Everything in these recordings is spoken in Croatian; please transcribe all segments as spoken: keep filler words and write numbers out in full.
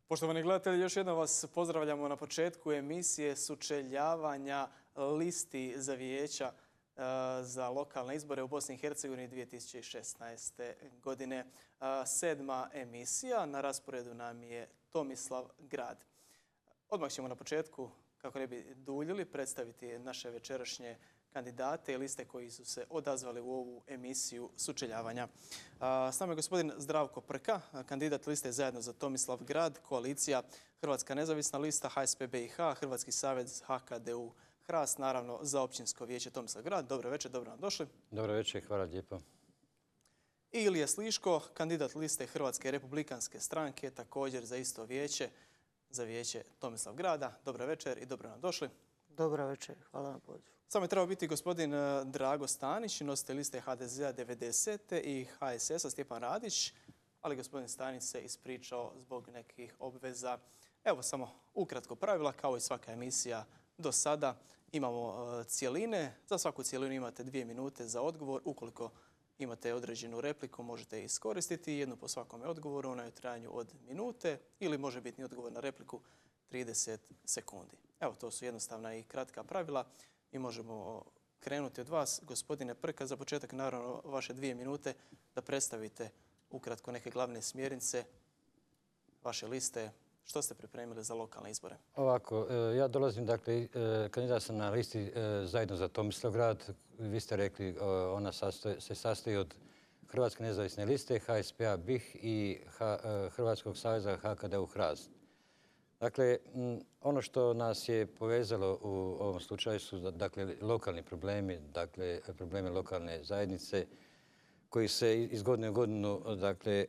Poštovani gledatelji, još jednom vas pozdravljamo na početku emisije sučeljavanja listi za vijeća za lokalne izbore u Bosni i Hercegovini dvije tisuće šesnaeste. godine. Sedma emisija, na rasporedu nam je Tomislav Grad. Odmah ćemo na početku, kako ne bi duljili, predstaviti naše večerašnje kandidate i liste koji su se odazvali u ovu emisiju sučeljavanja. S nama je gospodin Zdravko Prka, kandidat liste Zajedno za Tomislav Grad, koalicija Hrvatska nezavisna lista, H S P B i H, Hrvatski savez H K D U Hrast, naravno za općinsko vijeće Tomislav Grad. Dobro večer, dobro nam došli. Dobro večer, hvala lijepo. I Ilija Sliško, kandidat liste Hrvatske republikanske stranke, također za isto vijeće, za vijeće Tomislav Grada. Dobro večer i dobro nam došli. Dobro večer, hvala na pozivu. Samo je trebao biti gospodin Drago Stanić, nositelj liste H D Z-a devedesete i H S S-a Stjepan Radić, ali gospodin Stanić se ispričao zbog nekih obveza. Evo samo ukratko pravila, kao i svaka emisija do sada. Imamo cijeline, za svaku cijelinu imate dvije minute za odgovor. Ukoliko imate određenu repliku, možete iskoristiti jednu po svakome odgovoru, ona je u trajanju od minute ili može biti odgovor na repliku trideset sekundi. Evo, to su jednostavna i kratka pravila i možemo krenuti od vas. Gospodine Prka, za početak naravno vaše dvije minute da predstavite ukratko neke glavne smjernice vaše liste. Što ste pripremili za lokalne izbore? Ovako, ja dolazim, dakle, kandidat sam na listi Zajedno za Tomislav Grad. Vi ste rekli, ona se sastoji od Hrvatske nezavisne liste, H S P-a B I H i Hrvatskog saveza H K D U Hrast. Dakle, ono što nas je povezalo u ovom slučaju su dakle, lokalni problemi, dakle, problemi lokalne zajednice koji se iz godine u godinu dakle,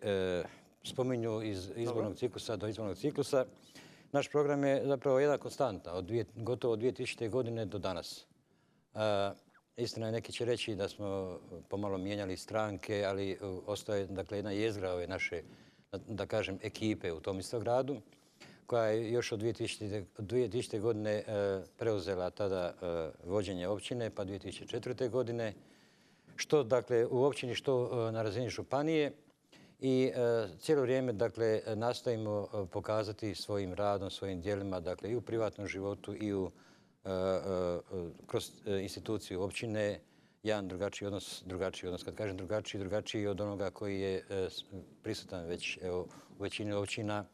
spominju iz izbornog ciklusa do izbornog ciklusa. Naš program je zapravo jedna konstanta od dvije, gotovo od dvije tisućite. godine do danas. A, istina je, neki će reći da smo pomalo mijenjali stranke, ali ostaje dakle, jedna jezgra ove naše, da kažem, ekipe u Tomislavgradu, koja je još od dvije tisućite. godine preuzela tada vođenje općine, pa dvije tisuće četvrte. godine, što dakle, u općini, što na razini županije. I cijelo vrijeme dakle, nastojimo pokazati svojim radom, svojim djelima, dakle, i u privatnom životu i u, kroz instituciju općine, jedan drugačiji odnos, drugačiji odnos. Kad kažem drugačiji, drugačiji od onoga koji je prisutan već evo, u većini općina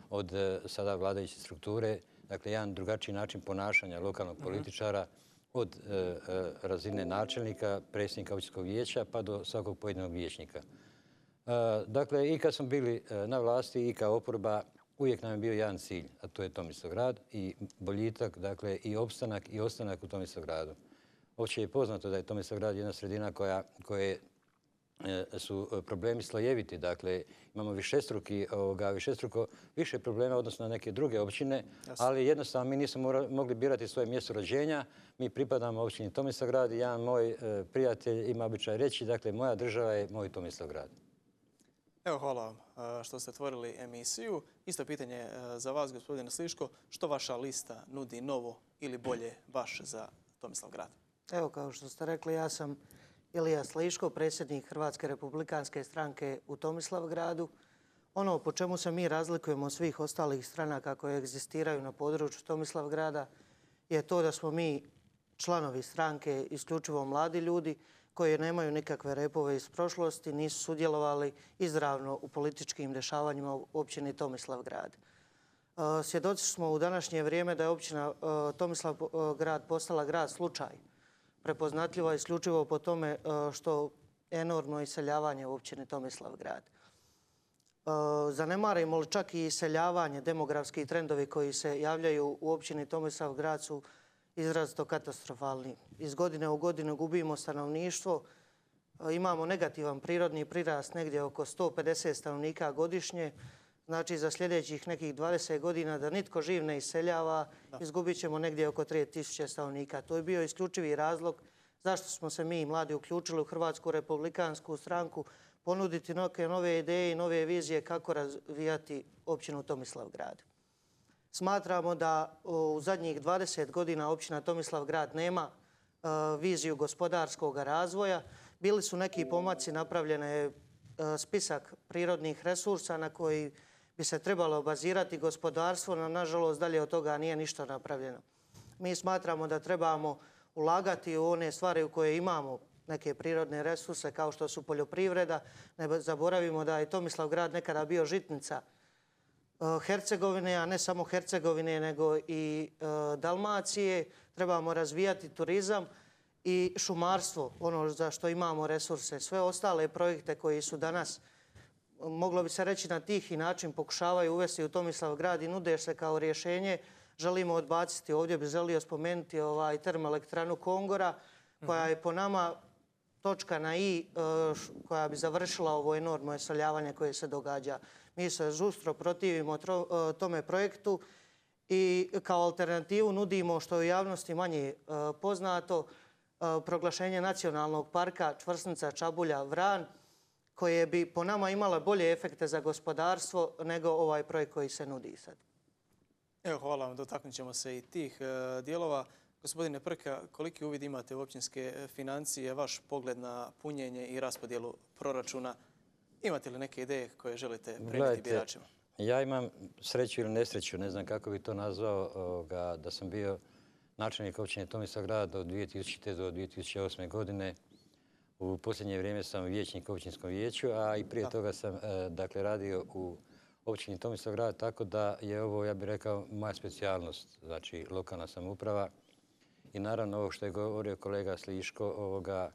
od sada vladajuće strukture. Dakle, jedan drugačiji način ponašanja lokalnog političara od razine načelnika, predsjednika općinskog vijeća pa do svakog pojedinog vijećnika. Dakle, i kad smo bili na vlasti i kao oporba, uvijek nam je bio jedan cilj, a to je Tomislavgrad i boljitak, dakle, i opstanak i ostanak u Tomislavgradu. Opće je poznato da je Tomislavgrad jedna sredina koja, koje su problemi slojeviti, dakle, imamo višestruki, ovoga, višestruko više problema odnosno na neke druge općine, ali jednostavno mi nismo mogli birati svoje mjesto rođenja. Mi pripadamo općini Tomislavgrad i jedan moj prijatelj ima običaj reći, dakle, moja država je moj Tomislavgrad. Evo, hvala vam što ste otvorili emisiju. Isto pitanje za vas, gospodine Sliško. Što vaša lista nudi novo ili bolje baš za Tomislavgrad? Evo, kao što ste rekli, ja sam Ilija Sliško, predsjednik Hrvatske republikanske stranke u Tomislavgradu. Ono po čemu se mi razlikujemo od svih ostalih stranaka koje egzistiraju na području Tomislavgrada je to da smo mi članovi stranke isključivo mladi ljudi koji nemaju nikakve repove iz prošlosti, nisu sudjelovali izravno u političkim dešavanjima u općini Tomislavgrad. Svjedoci smo u današnje vrijeme da je općina Tomislavgrad postala grad slučaj. Prepoznatljiva isključivo po tome što enormno iseljavanje u općini Tomislavgrad. Zanemarimo li čak i iseljavanje, demografski trendovi koji se javljaju u općini Tomislavgrad su izrazito katastrofalni. Iz godine u godinu gubimo stanovništvo, imamo negativan prirodni prirast negdje oko sto pedeset stanovnika godišnje. Znači za sljedećih nekih dvadeset godina da nitko živ ne iseljava, izgubit ćemo negdje oko tri tisuće stanovnika. To je bio isključivi razlog zašto smo se mi mladi uključili u Hrvatsku republikansku stranku, ponuditi neke nove ideje i nove vizije kako razvijati općinu Tomislavgrad. Smatramo da u zadnjih dvadeset godina općina Tomislavgrad nema viziju gospodarskog razvoja. Bili su neki pomaci, napravljene spisak prirodnih resursa na koji bi se trebalo bazirati gospodarstvo, no nažalost dalje od toga nije ništa napravljeno. Mi smatramo da trebamo ulagati u one stvari u koje imamo neke prirodne resurse kao što su poljoprivreda. Ne zaboravimo da je Tomislavgrad nekada bio žitnica Hercegovine, a ne samo Hercegovine nego i Dalmacije. Trebamo razvijati turizam i šumarstvo, ono za što imamo resurse. Sve ostale projekte koji su danas, moglo bi se reći na tihi način, pokušavaju uvesti u Tomislavgrad i nude se kao rješenje, želimo odbaciti. Ovdje bi želio spomenuti ovaj termoelektranu Kongora, koja je po nama točka na i koja bi završila ovo enormno iseljavanje koje se događa. Mi se žustro protivimo tome projektu i kao alternativu nudimo, što je u javnosti manje poznato, proglašenje nacionalnog parka Čvrsnica, Čabulja, Vran, koje bi po nama imala bolje efekte za gospodarstvo nego ovaj projekt koji se nudi sad. Evo, hvala vam, dotaknut ćemo se i tih dijelova. Gospodine Prka, koliki uvid imate u općinske financije, vaš pogled na punjenje i raspodjelu proračuna? Imate li neke ideje koje želite prenijeti biračima? Ja imam sreću ili nesreću, ne znam kako bi to nazvao, da sam bio načelnik općine Tomislavgrad od dvije tisućite. do dvije tisuće osme. godine. U posljednje vrijeme sam vijećnik u općinskom vijeću, a i prije toga sam dakle, radio u općini Tomislavgrad, tako da je ovo, ja bih rekao, moja specijalnost, znači lokalna samouprava. I naravno ovo što je govorio kolega Sliško, ovoga,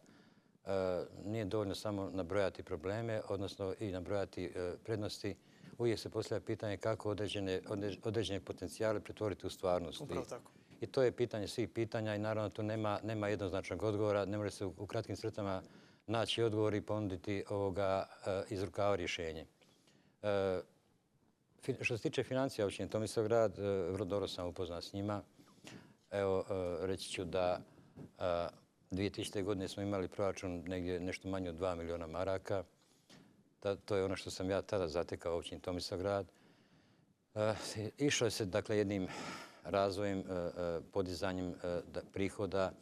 nije dovoljno samo nabrojati probleme, odnosno i nabrojati prednosti. Uvijek se postavlja pitanje kako određene, određene potencijale pretvoriti u stvarnost. Upravo tako. I to je pitanje svih pitanja i naravno tu nema, nema jednoznačnog odgovora. Ne može se u, u kratkim crtama naći odgovor i ponuditi ovoga iz rukava rješenje. E, što se tiče financija općine Tomislavgrad, vrlo dobro sam upoznat s njima. Evo, reći ću da dvije tisućite. godine smo imali proračun negdje nešto manje od dva milijuna maraka. To je ono što sam ja tada zatekao u općini Tomislavgrad. Išlo se dakle jednim razvojem, podizanjem prihoda,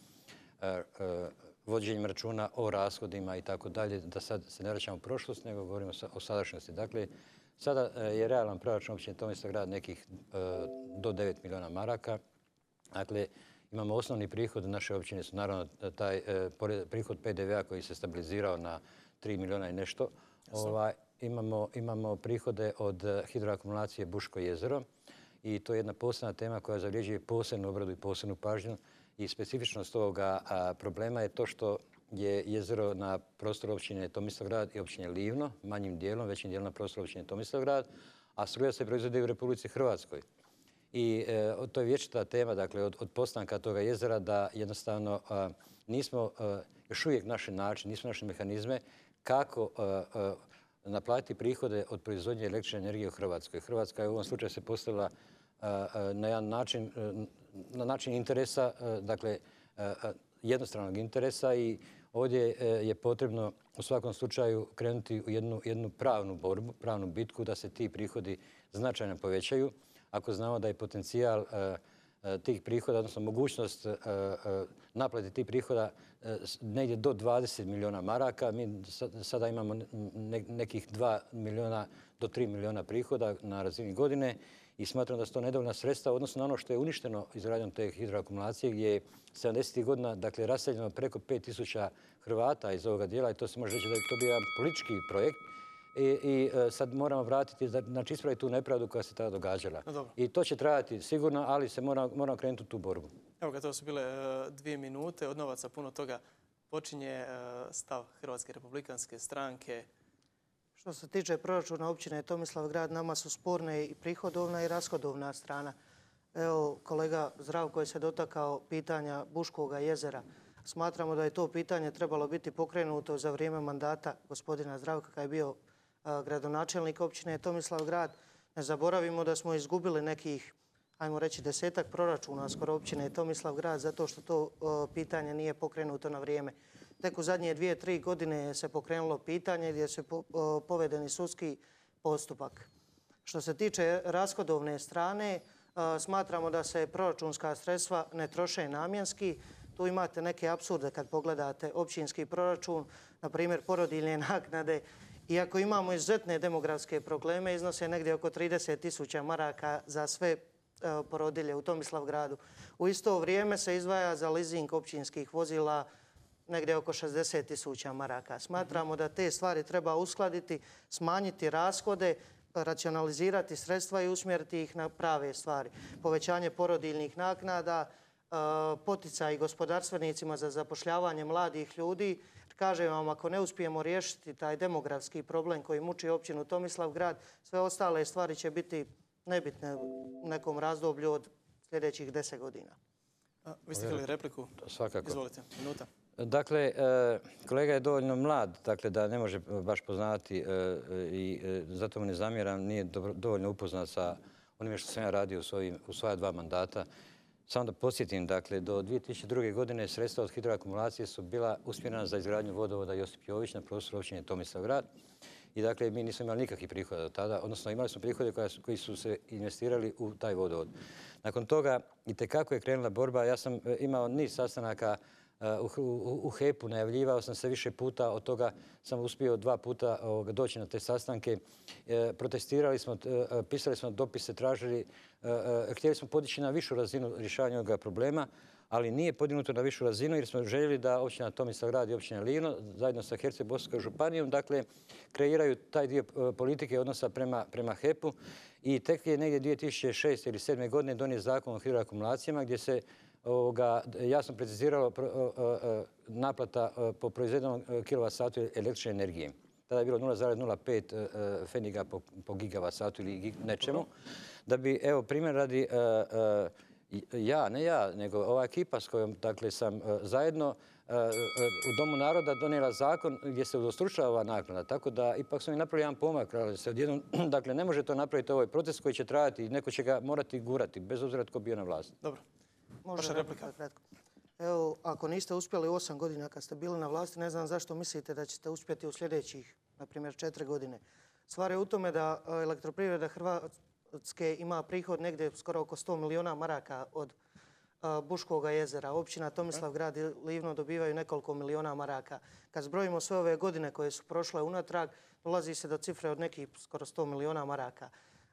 vođenjem računa o rashodima i tako dalje, da sad se ne vraćamo u prošlost, nego govorimo o sadašnjosti. Dakle, sada je realan proračun općine Tomislavgrad nekih do devet milijuna maraka. Dakle, imamo osnovni prihod naše općine, su naravno taj prihod P D V-a koji se stabilizirao na tri milijuna i nešto. Ovaj, imamo, imamo prihode od hidroakumulacije Buško jezero i to je jedna posebna tema koja zavređuje posebnu obradu i posebnu pažnju. I specifičnost ovoga a, problema je to što je jezero na prostoru općine Tomislavgrad i općine Livno, manjim dijelom, većim dijelom na prostoru općine Tomislavgrad, a struja se proizvodi u Republici Hrvatskoj. I e, to je vječita tema, dakle, od, od postanka toga jezera da jednostavno a, nismo a, još uvijek naši način, nismo naše mehanizme kako a, a, naplatiti prihode od proizvodnje električne energije u Hrvatskoj. Hrvatska je u ovom slučaju se postavila a, a, na jedan način, a, na način interesa, a, dakle, a, a, jednostranog interesa i ovdje je potrebno u svakom slučaju krenuti u jednu, jednu pravnu borbu, pravnu bitku da se ti prihodi značajno povećaju. Ako znamo da je potencijal uh, tih prihoda, odnosno mogućnost uh, uh, naplate tih prihoda uh, negdje do dvadeset milijuna maraka, mi sada imamo ne, nekih dva milijuna do tri milijuna prihoda na razini godine i smatram da su to nedovoljna sredstva, odnosno na ono što je uništeno izgradnjom te hidroakumulacije gdje je sedamdesetih godina dakle, raseljeno preko pet tisuća Hrvata iz ovoga dijela i to se može reći da je to bio jedan politički projekt. I, i sad moramo vratiti, znači ispraviti tu nepravdu koja se tada događala. No, I to će trajati sigurno, ali se moramo, moramo krenuti u tu borbu. Evo ga, to su bile uh, dvije minute. Od novaca puno toga počinje uh, stav Hrvatske republikanske stranke. Što se tiče proračuna općine Tomislavgrad, nama su sporne i prihodovna i rashodovna strana. Evo, kolega Zdravko je se dotakao pitanja Buškog jezera. Smatramo da je to pitanje trebalo biti pokrenuto za vrijeme mandata gospodina Zdravka kada je bio gradonačelnik općine Tomislavgrad. Ne zaboravimo da smo izgubili nekih, ajmo reći, desetak proračuna skoro općine Tomislavgrad zato što to pitanje nije pokrenuto na vrijeme. Tek u zadnje dvije, tri godine se pokrenulo pitanje gdje se povedeni sudski postupak. Što se tiče rashodovne strane, smatramo da se proračunska sredstva ne troše namjenski. Tu imate neke apsurde kad pogledate općinski proračun, na primjer porodiljne naknade Iako imamo izuzetne demografske probleme, iznose negdje oko trideset tisuća maraka za sve porodilje u Tomislavgradu. U isto vrijeme se izdvaja za leasing općinskih vozila negdje oko šezdeset tisuća maraka. Smatramo da te stvari treba uskladiti, smanjiti rashode, racionalizirati sredstva i usmjeriti ih na prave stvari. Povećanje porodiljnih naknada, poticaj gospodarstvenicima za zapošljavanje mladih ljudi. Kažem vam, ako ne uspijemo riješiti taj demografski problem koji muči općinu Tomislavgrad, sve ostale stvari će biti nebitne u nekom razdoblju od sljedećih deset godina. Vi ste htjeli repliku? Svakako. Izvolite, minuta. Dakle, kolega je dovoljno mlad, dakle da ne može baš poznati i zato mu ne zamjeram, nije dovoljno upoznat sa onime što sam ja radio u svoja dva mandata. Samo da podsjetim, dakle, do dvije tisuće druge. godine sredstva od hidroakumulacije su bila usmjerena za izgradnju vodovoda Josip Jović na prostoru općine Tomislavgrad. I dakle, mi nismo imali nikakvih prihoda do tada, odnosno imali smo prihode koji su se investirali u taj vodovod. Nakon toga, itekako je krenula borba. Ja sam imao niz sastanaka u H E P-u, najavljivao sam se više puta, od toga sam uspio dva puta doći na te sastanke. Protestirali smo, pisali smo dopise, tražili, htjeli smo podići na višu razinu rješavanja ovoga problema, ali nije podignuto na višu razinu jer smo željeli da općina Tomislavgrad i općina Livno zajedno sa Herceg-bosanskom županijom dakle kreiraju taj dio politike odnosa prema H E P-u i tek je negdje dvije tisuće šeste ili sedme. godine donijet zakon o hidroakumulacijama gdje se jasno preciziralo naplata po proizvedenom kilovat satu električne energije. Tada je bilo nula zarez nula pet pfenniga po gigavat satu ili nečemu. Da bi, evo, primjer radi ja, ne ja, nego ova ekipa s kojom dakle, sam zajedno u Domu naroda donijela zakon gdje se udostručava ova naknada. Tako da ipak smo i napravili jedan pomak. Dakle, ne može to napraviti ovaj proces koji će trajati i neko će ga morati gurati, bez obzira tko bio na vlasti. Dobro. Može replika kratko. Evo, ako niste uspjeli osam godina kad ste bili na vlasti, ne znam zašto mislite da ćete uspjeti u sljedećih, na primjer, četiri godine. Stvar je u tome da Elektroprivreda Hrvatske ima prihod negdje skoro oko sto milijuna maraka od Buškoga jezera. Općina Tomislavgrad i Livno dobivaju nekoliko milijuna maraka. Kad zbrojimo sve ove godine koje su prošle unatrag, dolazi se do cifre od nekih skoro sto milijuna maraka.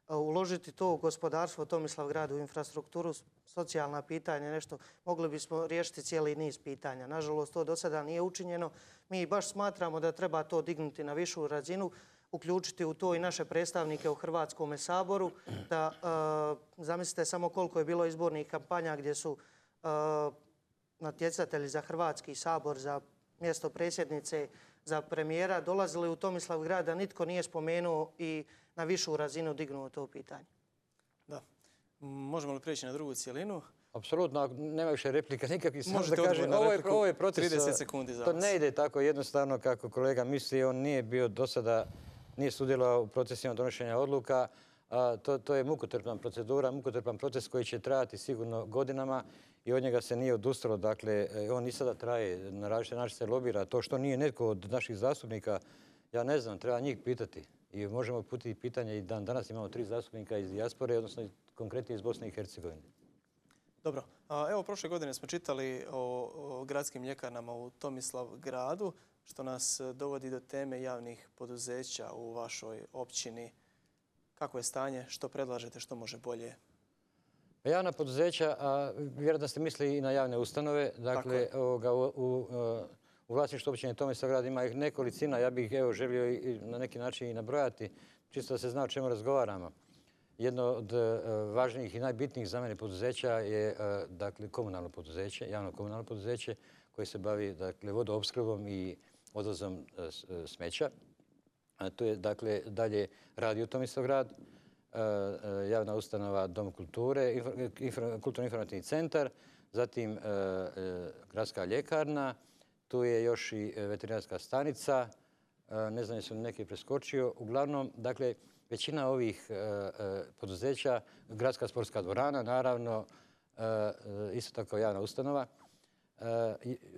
Uložiti to u gospodarstvo Tomislavgradu, u infrastrukturu, socijalna pitanja, nešto, mogli bismo riješiti cijeli niz pitanja. Nažalost, to do sada nije učinjeno. Mi baš smatramo da treba to dignuti na višu razinu, uključiti u to i naše predstavnike u Hrvatskom saboru, da zamislite samo koliko je bilo izbornih kampanja gdje su natjecatelji za Hrvatski sabor, za mjesto predsjednice, za premijera dolazili u Tomislavgrad, da nitko nije spomenuo i na višu razinu dignuo to pitanje. Da. Možemo li prijeći na drugu cijelinu? Apsolutno, nema više replika nikakvih. Možete odgovor na repliku, ovo je proces, trideset sekundi za vas. To ne ide tako jednostavno kako kolega misli. On nije bio do sada, nije sudjelovao u procesima donošenja odluka. To, to je mukotrpna procedura, mukotrpan proces koji će trajati sigurno godinama i od njega se nije odustalo. Dakle, on i sada traje, na različite načine se lobira. To što nije netko od naših zastupnika, ja ne znam, treba njih pitati. I možemo uputiti pitanje i dan danas imamo tri zastupnika iz dijaspore, odnosno konkretno iz Bosne i Hercegovine. Dobro. Evo, prošle godine smo čitali o, o gradskim ljekarnama u Tomislavgradu, što nas dovodi do teme javnih poduzeća u vašoj općini. Kako je stanje? Što predlažete? Što može bolje? Javna poduzeća, a vjerojatno ste mislili i na javne ustanove. Dakle, ovoga, u, u, u vlasništvu općine Tomislavgrad ima ih nekolicina. Ja bih evo, želio i na neki način i nabrojati, čisto da se zna o čemu razgovaramo. Jedno od važnijih i najbitnijih za mene poduzeća je dakle, komunalno poduzeće, javno komunalno poduzeće koje se bavi dakle, vodoopskrbom i odvozom smeća. A to je dakle dalje Radio Tomislavgrad, javna ustanova Dom kulture, kulturno-informativni centar, zatim gradska ljekarna, tu je još i veterinarska stanica, ne znam jesu li neki preskočio. Uglavnom, dakle, većina ovih poduzeća, gradska sportska dvorana, naravno, isto tako javna ustanova,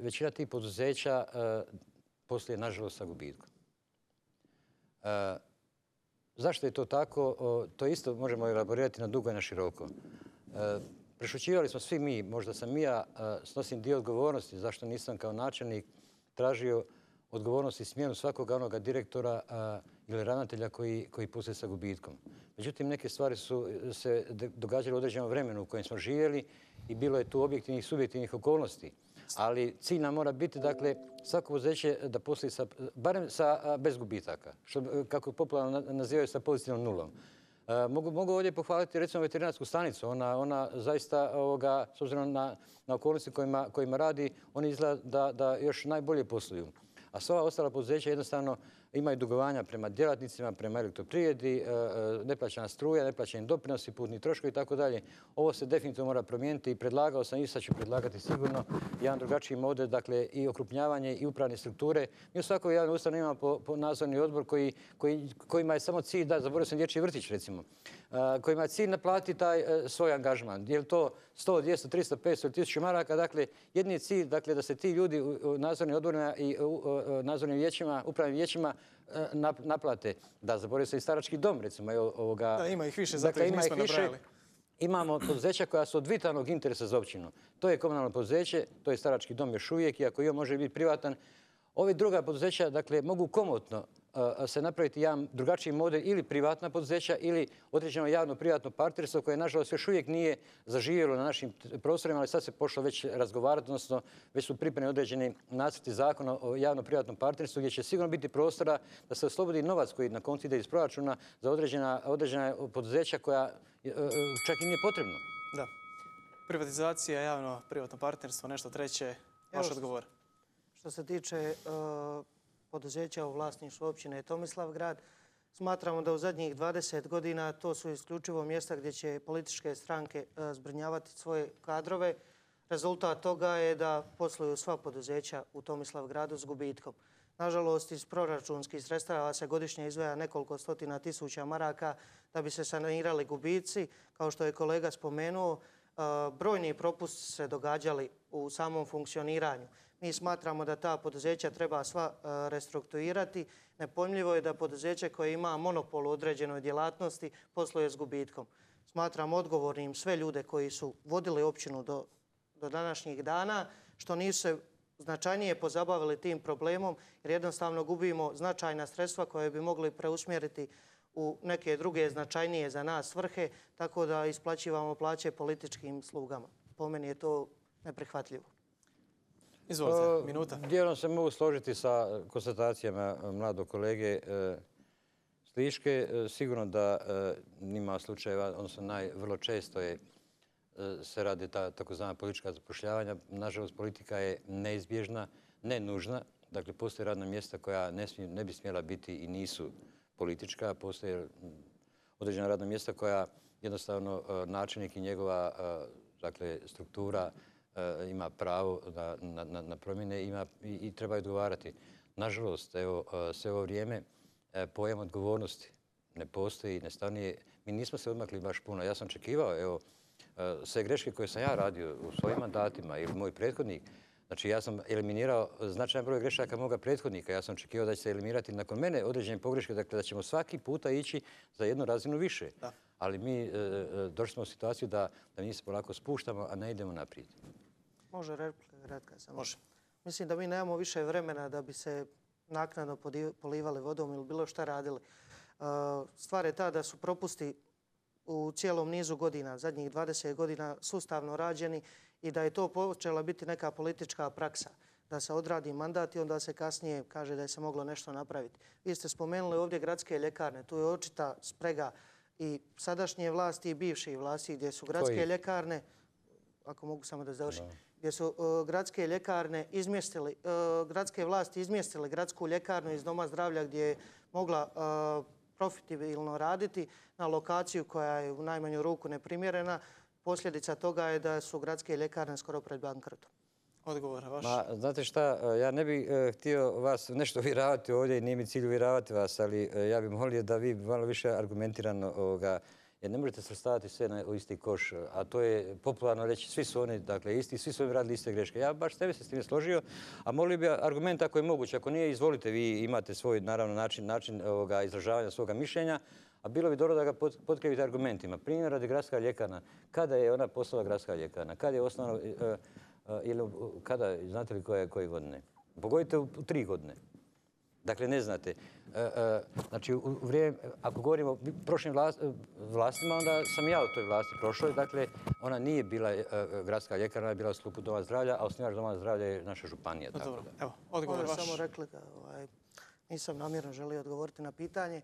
većina tih poduzeća poslije, nažalost, sa gubitkom. Zašto je to tako? To isto možemo elaborirati na dugo i na široko. Prešućivali smo svi mi, možda sam i ja, snosim dio odgovornosti zašto nisam kao načelnik tražio odgovornost i smjenu svakoga onoga direktora ili ravnatelja koji, koji posluje sa gubitkom. Međutim, neke stvari su se događale u određenom vremenu u kojem smo živjeli i bilo je tu objektivnih i subjektivnih okolnosti. Ali cilj nam mora biti, dakle, svako poduzeće da posluje sa, barem sa, bez gubitaka, što, kako popularno nazivaju, sa pozitivnom nulom. E, mogu, mogu ovdje pohvaliti recimo veterinarsku stanicu. Ona, ona zaista, ovoga, s obzirom na, na okolnosti kojima, kojima radi, oni izgleda da, da još najbolje posluju. A sva ostala poduzeća jednostavno imaju dugovanja prema djelatnicima, prema elektroprivredi, neplaćena struja, neplaćeni doprinosi, putni troškovi i tako dalje. Ovo se definitivno mora promijeniti i predlagao sam i sad ću predlagati sigurno jedan drugačiji model, dakle i okrupnjavanje i upravne strukture. Mi u svakoj javnoj ustanovi imamo po, po nadzorni odbor koji, koji, kojima je samo cilj, da zaboravio sam dječji vrtić recimo, kojima je cilj naplatiti taj svoj angažman. Je li to sto, dvjesto, tristo, petsto ili tisuću maraka? Dakle, jedni je cilj, dakle, da se ti ljudi u nadzornim odborima i nadzornim vijećima, upravnim vijećima naplate. Da, zaboravio se i starački dom, recimo. Ovoga. Da, ima ih više, zato ih nismo nabrajali. Imamo poduzeća koja su od vitalnog interesa za općinu. To je komunalno poduzeće, to je starački dom još uvijek, iako i on može biti privatan. Ove druga poduzeća, dakle, mogu komotno se napraviti jedan drugačiji model ili privatna poduzeća ili određeno javno-privatno partnerstvo koje, nažalost, još uvijek nije zaživjelo na našim prostorima, ali sad se pošlo već razgovarati, odnosno već su pripremljeni određeni nacrti zakona o javno-privatnom partnerstvu gdje će sigurno biti prostora da se oslobodi novac koji na koncu ide iz proračuna za određena, određena poduzeća koja čak i nije potrebno. Da. Privatizacija, javno-privatno partnerstvo, nešto treće. Vaš odgovor. Što se tiče uh, poduzeća u vlasništvu općine Tomislavgrad, smatramo da u zadnjih dvadeset godina to su isključivo mjesta gdje će političke stranke uh, zbrinjavati svoje kadrove. Rezultat toga je da posluju sva poduzeća u Tomislavgradu s gubitkom. Nažalost, iz proračunskih sredstava se godišnje izdvaja nekoliko stotina tisuća maraka da bi se sanirali gubici. Kao što je kolega spomenuo, uh, brojni propusti se događali u samom funkcioniranju. Mi smatramo da ta poduzeća treba sva restrukturirati. Nepojmljivo je da poduzeće koje ima monopol u određenoj djelatnosti posluje s gubitkom. Smatram odgovornim sve ljude koji su vodili općinu do, do današnjih dana, što nisu se značajnije pozabavili tim problemom, jer jednostavno gubimo značajna sredstva koje bi mogli preusmjeriti u neke druge značajnije za nas svrhe, tako da isplaćivamo plaće političkim slugama. Po meni je to neprihvatljivo. Izvolite, minuta. Dijelom se mogu složiti sa konstatacijama mladog kolege Sliške. Sigurno da nima slučajeva, odnosno naj, vrlo često je, se radi ta takozvana politička zapošljavanja. Nažalost, politika je neizbježna, ne nužna. Dakle, postoje radna mjesta koja ne, smije, ne bi smjela biti i nisu politička. Postoje određena radna mjesta koja jednostavno načelnik i njegova dakle, struktura ima pravo na, na, na promjene ima, i, i treba odgovarati. Nažalost, evo, sve ovo vrijeme pojam odgovornosti ne postoji, ne stanuje. Mi nismo se odmakli baš puno. Ja sam očekivao, evo, sve greške koje sam ja radio u svojim mandatima ili moj prethodnik, znači ja sam eliminirao značajan broj grešaka moga prethodnika. Ja sam očekivao da će se eliminirati nakon mene određene pogreške, dakle da ćemo svaki puta ići za jednu razinu više. Da. Ali mi e, došli smo u situaciju da, da mi se polako spuštamo, a ne idemo naprijed. Može replika kratka samo. Može. Mislim da mi nemamo više vremena da bi se naknadno polivali vodom ili bilo šta radili. Stvar je ta da su propusti u cijelom nizu godina, zadnjih dvadeset godina, sustavno rađeni i da je to počela biti neka politička praksa. Da se odradi mandat i onda se kasnije kaže da je se moglo nešto napraviti. Vi ste spomenuli ovdje gradske ljekarne. Tu je očita sprega i sadašnje vlasti i bivših vlasti gdje su gradske Koji? ljekarne, ako mogu samo da završim, gdje su uh, gradske ljekarne izmjestili, uh, gradske vlasti izmjestili gradsku ljekarnu iz Doma zdravlja gdje je mogla uh, profitabilno raditi na lokaciju koja je u najmanju ruku neprimjerena. Posljedica toga je da su gradske ljekarne skoro pred bankrotom. Odgovor vaš. Ma, znate šta, ja ne bih uh, htio vas nešto uvjeravati ovdje i nije mi cilj uvjeravati vas, ali uh, ja bih molio da vi malo više argumentirano ovoga, jer ne možete svrstavati sve na, u isti koš, a to je popularno reći, svi su oni dakle, isti, svi su oni radili iste greške. Ja baš tebe se s tim složio, a molio bi argument ako je moguće. Ako nije, izvolite, vi imate svoj naravno način, način ovoga, izražavanja svoga mišljenja, a bilo bi dobro da ga potkrepite argumentima. Primjer radi gradska ljekarna. Kada je ona postala gradska ljekarna? Kada je osnovno, uh, uh, ili kada, znate li koje, koje godine? Pogodite u, u tri godine. Dakle, ne znate. Znači, u vrijeme, ako govorimo o prošlim vlastima, onda sam ja u toj vlasti prošloj. Dakle, ona nije bila gradska ljekarna, ona je bila u sklopu Doma zdravlja, a osnivač Doma zdravlja je naša županija. Dobro, evo, odgovor vaš. Samo rekli da nisam namjerno želio odgovoriti na pitanje.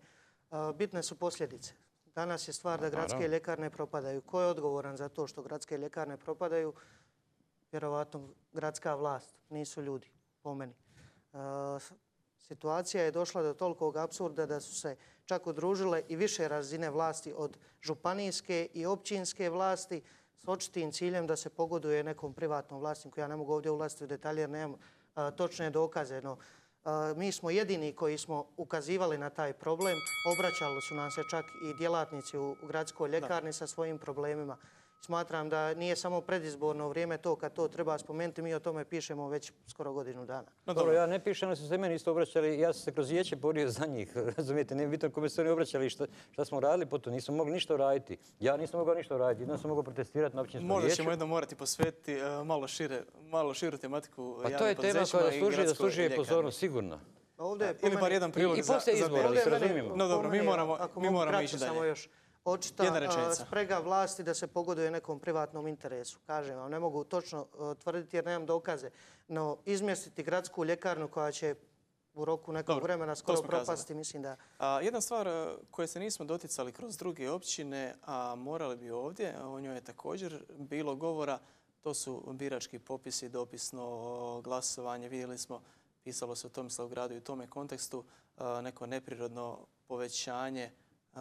Bitne su posljedice. Danas je stvar da gradske ljekarne propadaju. Ko je odgovoran za to što gradske ljekarne propadaju? Vjerovatno gradska vlast, nisu ljudi, po meni. Situacija je došla do tolikog apsurda da su se čak udružile i više razine vlasti od županijske i općinske vlasti s očitim ciljem da se pogoduje nekom privatnom vlasniku. Ja ne mogu ovdje ulaziti u detalje jer nemam točne dokaze, no mi smo jedini koji smo ukazivali na taj problem. Obraćali su nam se čak i djelatnici u gradskoj ljekarni sa svojim problemima. Smatram da nije samo predizborno vrijeme to kad to treba spomenuti. Mi o tome pišemo već skoro godinu dana. No, dobro, ja ne pišem, ali su se meni isto obraćali. Ja sam se kroz vijeće borio za njih. Razumijete, nije bitno kome su oni obraćali šta, šta smo radili po to. Nismo mogli ništa raditi. Ja nisam mogao ništa raditi. Jedno sam mogao protestirati na općinskom vijeću. Možda ćemo jedno morati posvetiti uh, malo, šire, malo širu tematiku. Pa to je tema koja zaslužuje da služuje pozornost, sigurno. Ovdje ili bar jedan prilog za... I poslije izbora, da se razumijemo. No dobro, mi moramo, mi moramo ići dalje. Očita sprega vlasti da se pogoduje nekom privatnom interesu. Kažem vam, ne mogu točno tvrditi jer nemam dokaze. No, izmjestiti gradsku ljekarnu koja će u roku nekog Dobro, vremena skoro propasti, mislim da... A, jedna stvar koje se nismo doticali kroz druge općine, a morali bi ovdje, o njoj je također bilo govora, to su birački popisi, dopisno glasovanje. Vidjeli smo, pisalo se o Tomislavgradu i u tome kontekstu, a, neko neprirodno povećanje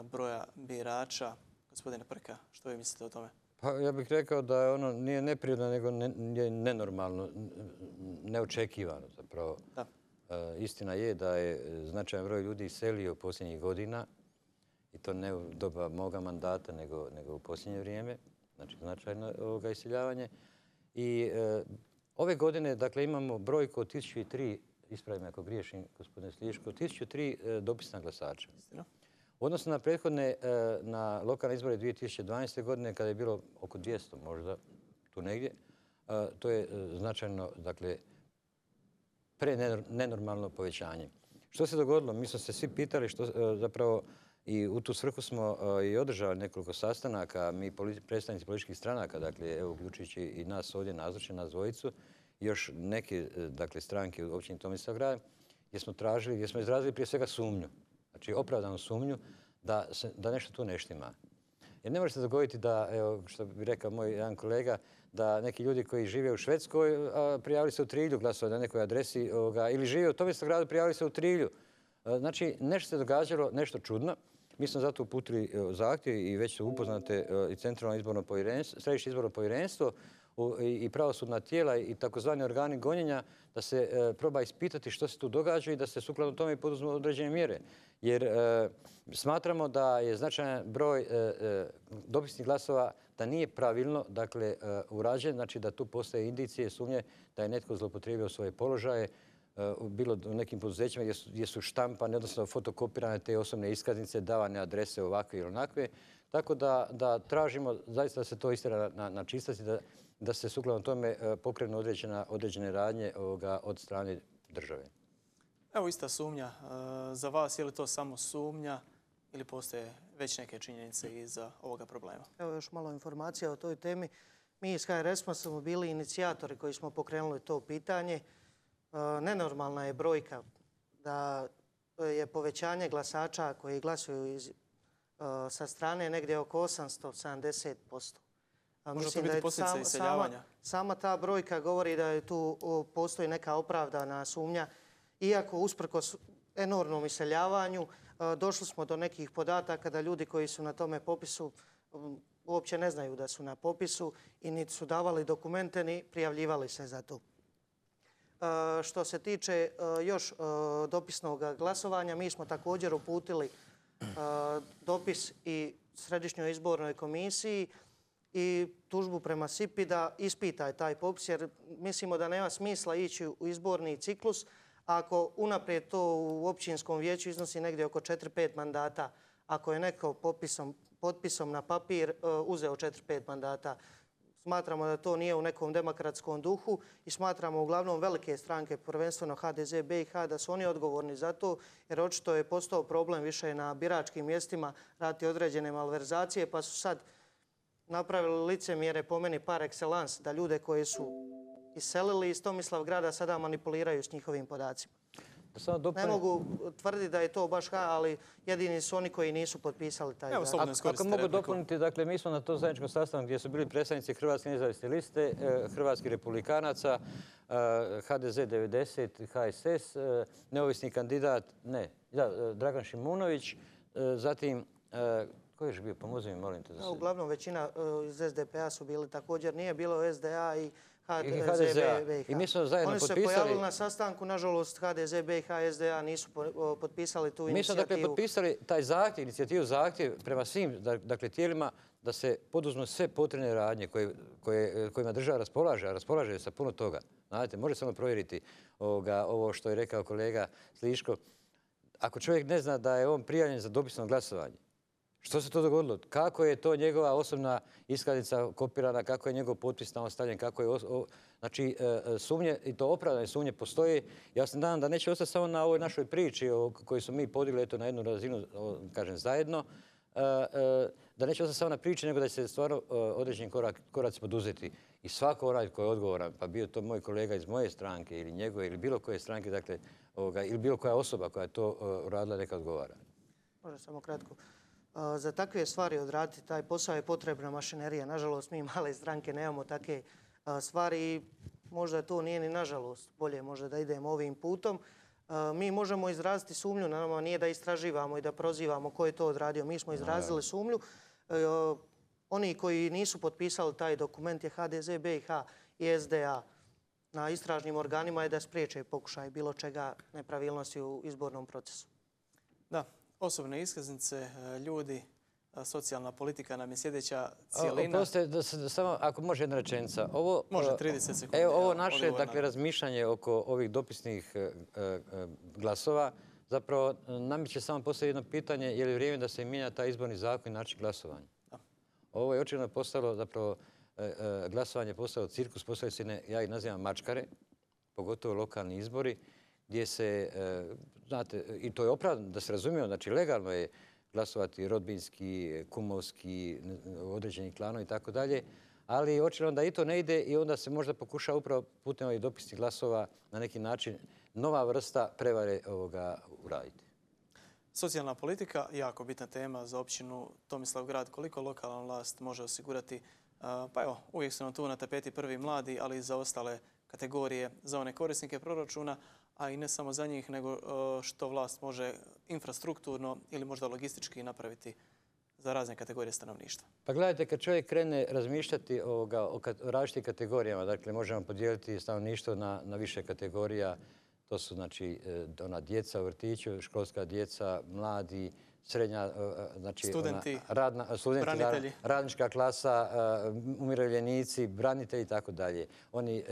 broja birača. Gospodine Prka, što vi mislite o tome? Pa ja bih rekao da ono nije neprirodno, nego ne, nenormalno, neočekivano zapravo. Da. E, istina je da je značajan broj ljudi iselio posljednjih godina i to ne u doba moga mandata, nego, nego u posljednje vrijeme. Znači značajno ovoga iseljavanje. I e, ove godine, dakle, imamo brojku od tisuću tri, ispravim ako griješim, gospodine Sliško, tisuću tri e, dopisna glasača. Istina. U odnosu na prethodne, na lokalne izbore dvije tisuće dvanaeste. godine, kada je bilo oko dvjesto možda, tu negdje, to je značajno, dakle, prenenormalno povećanje. Što se dogodilo? Mi smo se svi pitali što zapravo i u tu svrhu smo i održali nekoliko sastanaka, mi predstavnici političkih stranaka, dakle, evo, uključujući i nas ovdje nazočne, nas dvojicu, još neke, dakle, stranke u općini Tomislavgrad, gdje smo tražili, gdje smo izrazili prije svega sumnju. Znači, opravdanu sumnju da, se, da nešto tu ne štima. Jer ne može se dogoditi da, evo, što bi rekao moj jedan kolega, da neki ljudi koji žive u Švedskoj a, prijavili se u Trilju, glasovali na nekoj adresi, ovoga, ili žive u Tomislavgradu, prijavili se u Trilju. A, znači, nešto se događalo, nešto čudno. Mi smo zato uputili zahtjev i već su upoznate i Centralno izborno povjerenstvo, Središnje izborno povjerenstvo i pravosudna tijela i takozvani organi gonjenja da se e, proba ispitati što se tu događa i da se sukladno tome poduzmu određene mjere. Jer e, smatramo da je značajan broj e, e, dopisnih glasova da nije pravilno, dakle, e, urađen, znači da tu postoje indicije, sumnje da je netko zloupotrijebio svoje položaje, e, bilo u nekim poduzećima gdje su, gdje su štampane, odnosno fotokopirane te osobne iskaznice, davane adrese ovakve ili onakve. Tako da, da tražimo zaista da se to istjera na, na čistosti, da da se sukladno tome pokrenu određena, određene radnje ovoga od strane države. Evo ista sumnja. Za vas je li to samo sumnja ili postoje već neke činjenice iza ovoga problema? Evo još malo informacija o toj temi. Mi iz H R S smo bili inicijatori koji smo pokrenuli to pitanje. Nenormalna je brojka da je povećanje glasača koji glasuju iz, sa strane negdje oko osamsto sedamdeset posto. Može to biti posljedica iseljavanja? Sama, sama ta brojka govori da je tu postoji neka opravdana sumnja. Iako usprkos enormnom iseljavanju došli smo do nekih podataka da ljudi koji su na tome popisu uopće ne znaju da su na popisu i niti su davali dokumente ni prijavljivali se za to. Što se tiče još dopisnog glasovanja, mi smo također uputili dopis i Središnjoj izbornoj komisiji i tužbu prema S I P I da ispita taj popis, jer mislimo da nema smisla ići u izborni ciklus ako unaprijed to u općinskom vijeću iznosi negdje oko četiri pet mandata. Ako je neko popisom, potpisom na papir uzeo četiri pet mandata, Smatramo da to nije u nekom demokratskom duhu i smatramo uglavnom velike stranke, prvenstveno ha de ze be i ha, da su oni odgovorni za to, jer očito je postao problem više na biračkim mjestima raditi određene malverzacije, pa su sad napravili licemjere po meni par excellence, da ljude koji su iselili iz Tomislavgrada sada manipuliraju s njihovim podacima. Ne mogu tvrditi da je to baš ha, ali jedini su oni koji nisu potpisali taj zakon. Ako mogu dopuniti, dakle, mi smo na tom zajedničkom sastanku gdje su bili predstavnici Hrvatske nezavisne liste, Hrvatskih republikanaca, ha de ze devedeset, ha es es, neovisni kandidat, ne, Dragan Šimunović, zatim, ko je još bio, pomozi mi, molim te. Uglavnom većina iz es de pe a su bili također, nije bilo es de a i ha de ze be i ha. I mi smo zajedno potpisali... Oni su se pojavili na sastanku, nažalost ha de ze be i ha es de a nisu potpisali tu inicijativu. Mi smo dakle potpisali taj zahtjev, inicijativu zahtjev prema svim dakle, tijelima da se poduzmu sve potrebne radnje koje, koje, kojima država raspolaže, a raspolaže sa puno toga. Znate, može samo provjeriti ovoga, ovo što je rekao kolega Sliško. Ako čovjek ne zna da je on prijavljen za dopisno glasovanje, što se to dogodilo? Kako je to njegova osobna iskaznica kopirana, kako je njegov potpis tamo stavljen, kako je... O, znači, sumnje, i to opravdane sumnje postoje. Ja se nadam da neće ostati samo na ovoj našoj priči o kojoj smo mi podigli eto, na jednu razinu, kažem, zajedno, da neće ostati samo na priči, nego da će se stvarno određeni korak, koraci poduzeti. I svako onaj koji je odgovoran, pa bio to moj kolega iz moje stranke ili njegove ili bilo koje stranke, dakle, ovoga, ili bilo koja osoba koja je to uradila, neka odgovara. Može samo kratko. Za takve stvari odraditi taj posao je potrebna mašinerija. Nažalost, mi male stranke nemamo takve stvari i možda to nije ni nažalost. Bolje možda da idemo ovim putom. Mi možemo izraziti sumnju, na nama nije da istraživamo i da prozivamo ko je to odradio. Mi smo izrazili sumnju. Oni koji nisu potpisali taj dokument je ha de ze be i ha i es de a. Na istražnim organima je da spriječe pokušaj bilo čega nepravilnosti u izbornom procesu. Da. Osobne iskaznice, ljudi, socijalna politika nam je sljedeća cijelina. Oprostite, samo ako može jedna rečenica. Ovo, može trideset sekundi. Evo, ovo naše dakle, razmišljanje oko ovih dopisnih glasova zapravo namiče samo postoji jedno pitanje je li vrijeme da se mijenja taj izborni zakon i način glasovanja. Da. Ovo je očigledno postalo zapravo glasovanje postalo cirkus, postalo se, ja ih nazivam mačkare, pogotovo lokalni izbori, gdje se, znate, i to je opravdano, da se razumijemo, znači legalno je glasovati rodbinski, kumovski, određeni klanovi i tako dalje, ali očigledno da i to ne ide i onda se možda pokuša upravo putem ovih dopisnih glasova na neki način nova vrsta prevare ovoga uraditi. Socijalna politika, jako bitna tema za općinu Tomislavgrad. Koliko lokalna vlast može osigurati, pa evo, uvijek su nam tu na tapeti prvi mladi, ali i za ostale kategorije, za one korisnike proračuna, a i ne samo za njih, nego što vlast može infrastrukturno ili možda logistički napraviti za razne kategorije stanovništva. Pa gledajte, kad čovjek krene razmišljati ovoga, o različitim kategorijama, dakle možemo podijeliti stanovništvo na, na više kategorija, to su znači ona djeca u vrtiću, školska djeca, mladi, srednja, znači studenti, ona, radna, studenti branitelji, radnička klasa, umirovljenici, branitelji i tako dalje. Oni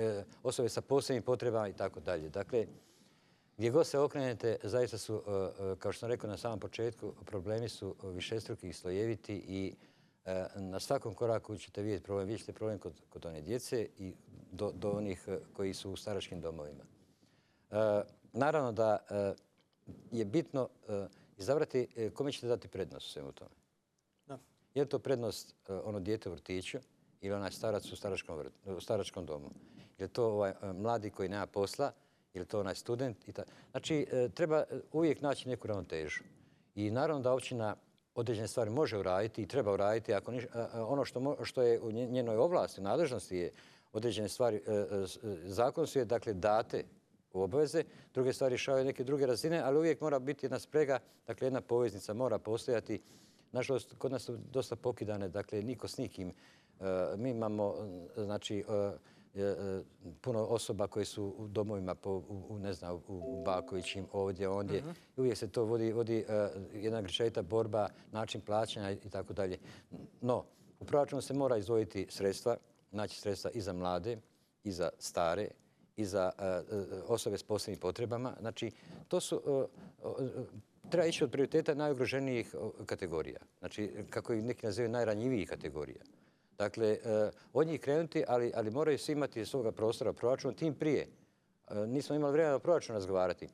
osobe sa posebnim potrebama i tako dalje. Dakle, gdje god se okrenete, zaista su, kao što sam rekao na samom početku, problemi su višestruki i slojeviti i na svakom koraku ćete vidjeti problem. Vidjet ćete problem kod, kod one djece i do, do onih koji su u staračkim domovima. Naravno da je bitno izabrati kome ćete dati prednost u svemu tome. Da. Je li to prednost ono dijete u vrtiću ili onaj starac u staračkom, vrt, u staračkom domu? Je li to ovaj mladi koji nema posla? Je li to onaj student? I ta... Znači, treba uvijek naći neku ravnotežu. I naravno da općina određene stvari može uraditi i treba uraditi. Ako niš... Ono što, mo... što je u njenoj ovlasti, u nadležnosti je određene stvari, zakon su je dakle date u obveze, druge stvari rješavaju neke druge razine, ali uvijek mora biti jedna sprega, dakle jedna poveznica mora postojati. Nažalost, kod nas su dosta pokidane, dakle niko s nikim. Mi imamo, znači, puno osoba koji su u domovima, po, u, ne znam, u Bakovićim, ovdje, ondje. Uh-huh. Uvijek se to vodi, vodi jedna grčevita borba, način plaćanja i tako dalje. No, u proračunu se mora izdvojiti sredstva, naći sredstva i za mlade, i za stare, i za uh, osobe s posebnim potrebama. Znači, to su, uh, uh, treba ići od prioriteta najugroženijih kategorija. Znači, kako ih neki nazivaju, najranjivijih kategorija. Dakle, od njih krenuti, ali, ali moraju svi imati svoga prostora proračuna, tim prije. Nismo imali vremena o proračunu razgovarati.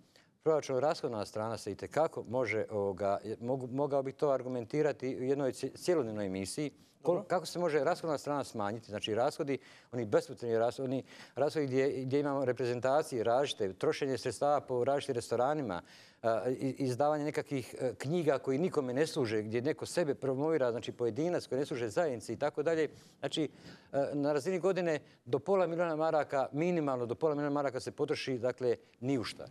Proračun rashodna strana se itekako može, ovoga, mogu, mogao bih to argumentirati u jednoj cjelodnevnoj emisiji, Kol, kako se može rashodna strana smanjiti. Znači rashodi, oni bespotrebni rashodi, oni rashodi gdje, gdje imamo reprezentacije različite, trošenje sredstava po različitim restoranima, izdavanje nekakvih knjiga koji nikome ne služe, gdje neko sebe promovira, znači pojedinac koji ne služe zajednici i tako dalje. Znači, na razini godine do pola milijuna maraka, minimalno do pola milijuna maraka se potroši, dakle, ni u šta.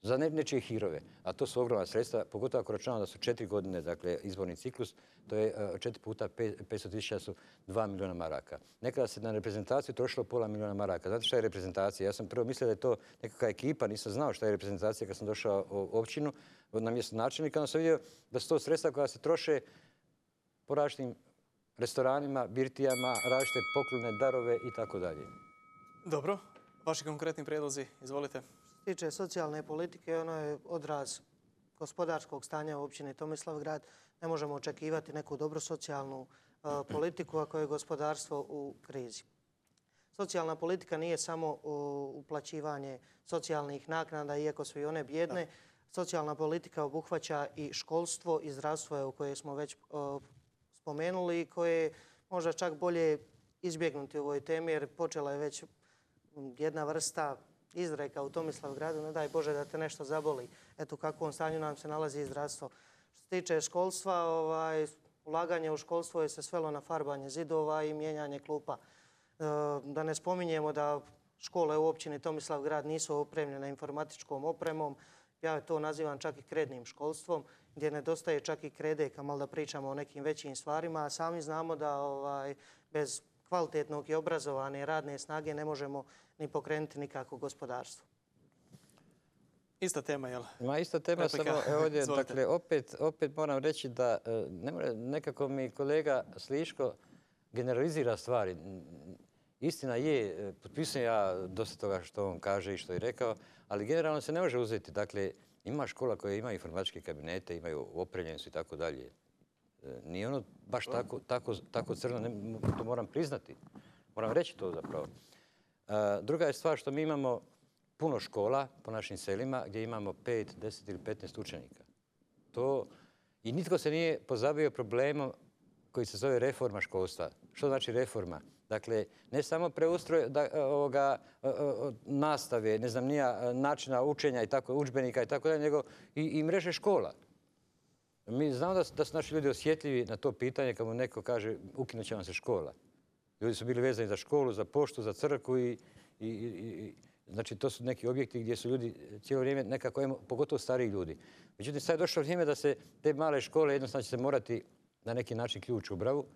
Za ne, nečije hirove. A to su ogromna sredstva, pogotovo ako računamo da su četiri godine, dakle, izborni ciklus, to je četiri puta petsto tisuća su dva milijuna maraka. Nekada se na reprezentaciju trošilo pola milijuna maraka. Znate šta je reprezentacija? Ja sam prvo mislio da je to nekakva ekipa, nisam znao šta je reprezentacija kad sam došao u općinu na mjesto načelnika, onda sam vidio da su to sredstva koja se troše po različitim restoranima, birtijama, različite poklone, darove i tako dalje. Dobro. Vaši konkretni prijedlozi, izvolite. Što se tiče socijalne politike, ono je odraz gospodarskog stanja u općini Tomislavgrad. Ne možemo očekivati neku dobru socijalnu uh, politiku ako je gospodarstvo u krizi. Socijalna politika nije samo uh, uplaćivanje socijalnih naknada, iako su i one bjedne. Da. Socijalna politika obuhvaća i školstvo i zdravstvo koje smo već uh, spomenuli i koje je možda čak bolje izbjegnuti u ovoj temi jer počela je već jedna vrsta izreka u Tomislavgradu, ne daj Bože da te nešto zaboli. Eto u kakvom stanju nam se nalazi i zdravstvo. Što se tiče školstva, ovaj, ulaganje u školstvo je se svelo na farbanje zidova i mijenjanje klupa. E, da ne spominjemo da škole u općini Tomislavgrad nisu opremljene informatičkom opremom. Ja to nazivam čak i krednim školstvom, gdje nedostaje čak i kredeka, malo da pričamo o nekim većim stvarima, a sami znamo da ovaj, bez kvalitetnog i obrazovane radne snage ne možemo ni pokrenuti nikako gospodarstvo. Ista tema, jel? Ma ista tema, samo ovdje, dakle, opet, opet moram reći da ne mora, nekako mi kolega Sliško generalizira stvari. Istina je, potpisujem ja dosta toga što on kaže i što je rekao, ali generalno se ne može uzeti. Dakle, ima škola koja ima informatičke kabinete, imaju opremljenost i tako dalje. Nije ono baš tako, tako, tako crno, ne, to moram priznati. Moram reći to zapravo. E, druga je stvar što mi imamo puno škola po našim selima gdje imamo pet, deset ili petnaest učenika. To, i nitko se nije pozabavio problemom koji se zove reforma školstva. Što znači reforma? Dakle, ne samo preustroj da, ovoga, nastave, ne znam nija, načina učenja i tako, udžbenika i tako dalje, nego i, i mreže škola. Mi znamo da, da su naši ljudi osjetljivi na to pitanje kad mu neko kaže ukinut će vam se škola. Ljudi su bili vezani za školu, za poštu, za crkvu i, i, i znači to su neki objekti gdje su ljudi cijelo vrijeme nekako, pogotovo stariji ljudi. Međutim, sad je došlo vrijeme da se te male škole jednostavno će se morati na neki način ključ u bravu,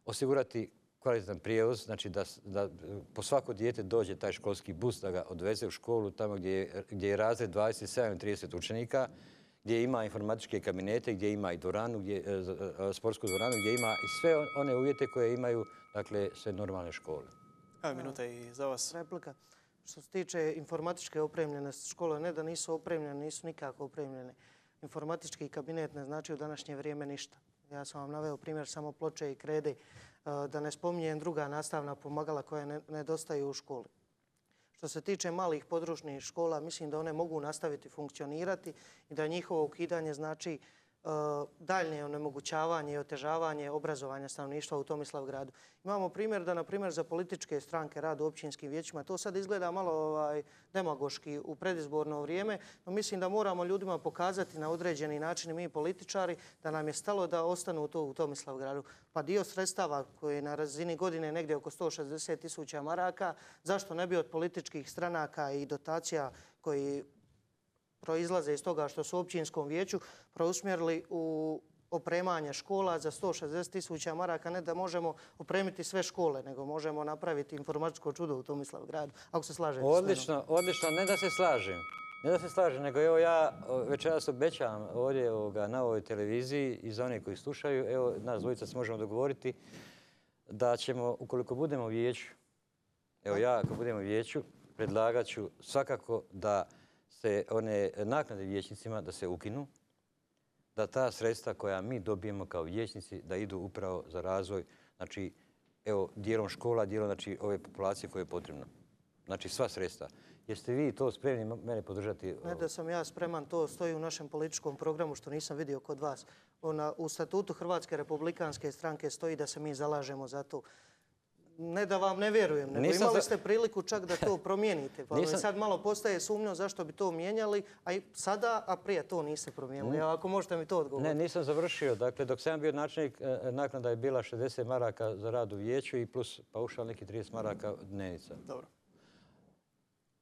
osigurati kvalitetan prijevoz, znači da, da po svako dijete dođe taj školski bus da ga odveze u školu tamo gdje je, gdje je razred dvadeset sedam ili trideset učenika, gdje ima informatičke kabinete, gdje ima i dvoranu, gdje, sportsku dvoranu, gdje ima i sve one uvjete koje imaju, dakle, sve normalne škole. Evo minuta i za vas. Replika. Što se tiče informatičke opremljenosti škole, ne da nisu opremljene, nisu nikako opremljene. Informatički kabinet ne znači u današnje vrijeme ništa. Ja sam vam naveo primjer samo ploče i krede, da ne spominjem druga nastavna pomagala koja nedostaju u školi. Što se tiče malih područnih škola, mislim da one mogu nastaviti funkcionirati i da njihovo ukidanje znači daljnje onemogućavanje i otežavanje obrazovanja stanovništva u Tomislavgradu. Imamo primjer da, na primjer, za političke stranke rad u općinskim vijećima, to sad izgleda malo ovaj, demagoški u predizborno vrijeme, no mislim da moramo ljudima pokazati na određeni način mi političari da nam je stalo da ostanu to u Tomislavgradu. Pa dio sredstava koji je na razini godine negdje oko sto šezdeset tisuća maraka, zašto ne bi od političkih stranaka i dotacija koji proizlaze iz toga što su u općinskom vijeću preusmjerili u opremanje škola za sto šezdeset tisuća maraka, ne da možemo opremiti sve škole, nego možemo napraviti informatičko čudo u Tomislavgradu, ako se slažete. Odlično, odlično, ne da se slažem. Ne da se slažem, nego evo ja večeras obećavam ovdje ovoga, na ovoj televiziji i za one koji slušaju, evo nas dvojica se možemo dogovoriti da ćemo, ukoliko budemo u vijeću, evo ja ako budemo u vijeću, predlagat ću svakako da se one naknade vijećnicima da se ukinu, da ta sredstva koja mi dobijemo kao vijećnici da idu upravo za razvoj, znači evo, dijelom škola, dijelom znači, ove populacije koje je potrebno. Znači sva sredstva. Jeste vi to spremni mene podržati? Ne da sam ja spreman, to stoji u našem političkom programu što nisam vidio kod vas. Ona, u statutu Hrvatske republikanske stranke stoji da se mi zalažemo za to. Ne da vam ne vjerujem, nego Nisam imali za- ste priliku čak da to promijenite. Pa mi Nisam- sad malo postaje sumnjo zašto bi to mijenjali, a i sada, a prije to niste promijenili. Evo, ako možete mi to odgovoriti. Ne, nisam završio. Dakle, dok sam ja bio načelnik, e, naknada je bila šezdeset maraka za rad u vijeću i plus paušal neki trideset maraka dnevnica. Dobro.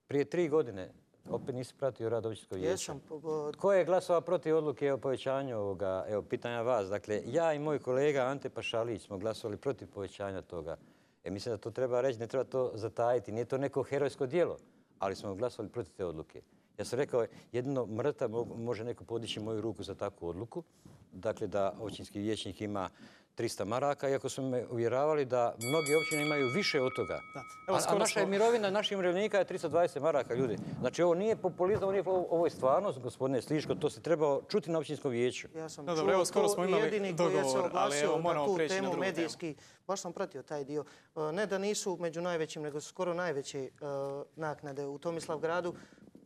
Prije tri godine, opet nisi pratio rad općinskog vijeća. Jesam, po- po- Tko je glasovao protiv odluke o povećanju ovoga, evo, pitanja vas. Dakle, ja i moj kolega Ante Pašalić smo glasovali protiv povećanja toga. E, mislim da to treba reći, ne treba to zatajiti. Nije to neko herojsko djelo, ali smo glasovali protiv te odluke. Ja sam rekao, jedino mrtav mo- može neko podići moju ruku za takvu odluku. Dakle, da općinski vijećnik ima trista maraka, iako su me uvjeravali da mnogi općine imaju više od toga. Da. Evo, A, a skoro naša je smo- mirovina naših umirovljenika je tristo dvadeset maraka, ljudi. Znači, ovo nije populizam, ovo, nije, ovo je stvarnost, gospodine Sliško, to se trebao čuti na općinskom vijeću. Ja sam No, čuo dobro, evo, skoro to smo i imali jedini koji je se dogovor, ali oglasio evo, na moramo tu prijeći na temu drugu temu. medijski. Baš sam pratio taj dio. E, Ne da nisu među najvećim, nego su skoro najveće e, naknade u Tomislavgradu.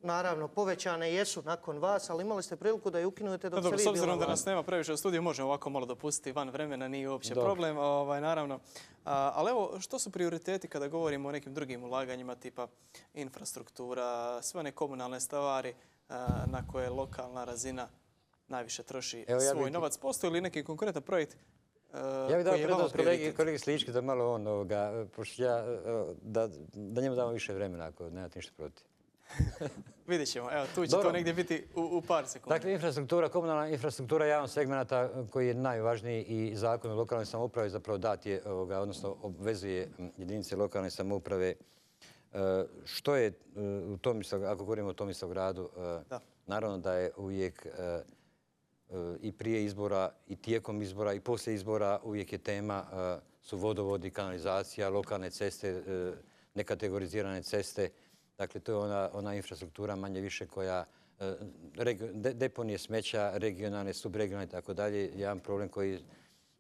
Naravno, povećane jesu nakon vas, ali imali ste priliku da je ukinute dok No, ste dobro, vi s obzirom bila da vlast. nas nema previše u studiju, možemo ovako malo dopustiti van vremena, nije uopće Dobro. problem, ovaj, naravno. A, ali evo, što su prioriteti kada govorimo o nekim drugim ulaganjima, tipa infrastruktura, sve one komunalne stvari a, na koje lokalna razina najviše troši Evo, ja svoj bih- novac? Postoji li neki konkretan projekt a, Ja bih dao koji je vama prednost kolegi, prioritet? kolegi Slički da malo on, ovoga, pošto ja, evo, da, da njemu damo više vremena ako nemate ništa protiv. Vidjet ćemo, evo, tu će Dobro. to negdje biti u, u par sekundi. Dakle, infrastruktura, komunalna infrastruktura je jedan segmenata koji je najvažniji i zakon o lokalnoj samoupravi zapravo dat je, ovoga, odnosno obvezuje m, jedinice lokalne samouprave. E, Što je e, u Tomislav, ako govorimo o Tomislavgradu, e, Da. naravno da je uvijek e, e, i prije izbora i tijekom izbora i poslije izbora uvijek je tema e, su vodovodi, kanalizacija, lokalne ceste, e, nekategorizirane ceste. Dakle, to je ona, ona infrastruktura manje više koja e, regio- de- deponije smeća, regionalne, subregionalne i tako dalje, jedan problem koji